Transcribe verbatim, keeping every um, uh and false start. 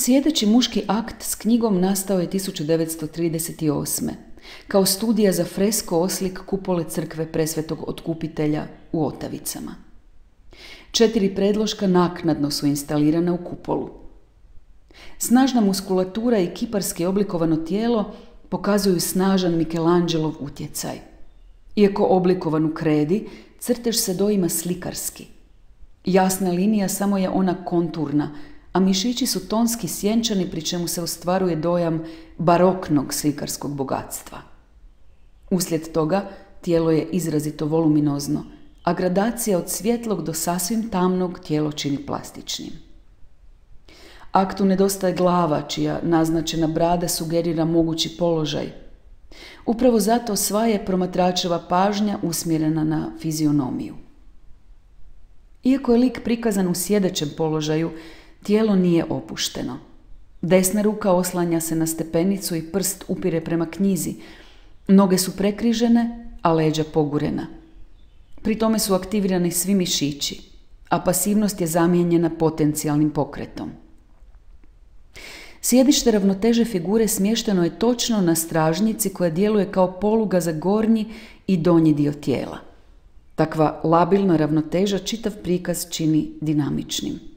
Sjedeći muški akt s knjigom nastao je tisuću devetsto trideset osme. kao studija za fresko oslik kupole crkve Presvetog Otkupitelja u Otavicama. Četiri predloška naknadno su instalirana u kupolu. Snažna muskulatura i kiparski oblikovano tijelo pokazuju snažan Michelangelov utjecaj. Iako oblikovan u kredi, crtež se doima slikarski. Jasna linija samo je ona konturna, a mišići su tonski sjenčani, pri čemu se ostvaruje dojam baroknog slikarskog bogatstva. Uslijed toga tijelo je izrazito voluminozno, a gradacija od svjetlog do sasvim tamnog tijelo čini plastičnim. Aktu nedostaje glava, čija naznačena brada sugerira mogući položaj. Upravo zato sva je promatračeva pažnja usmjerena na fizionomiju. Iako je lik prikazan u sjedećem položaju, tijelo nije opušteno. Desna ruka oslanja se na stepenicu i prst upire prema knjizi. Noge su prekrižene, a leđa pogurena. Pri tome su aktivirani svi mišići, a pasivnost je zamijenjena potencijalnim pokretom. Sjedište ravnoteže figure smješteno je točno na stražnjici koja djeluje kao poluga za gornji i donji dio tijela. Takva labilna ravnoteža čitav prikaz čini dinamičnim.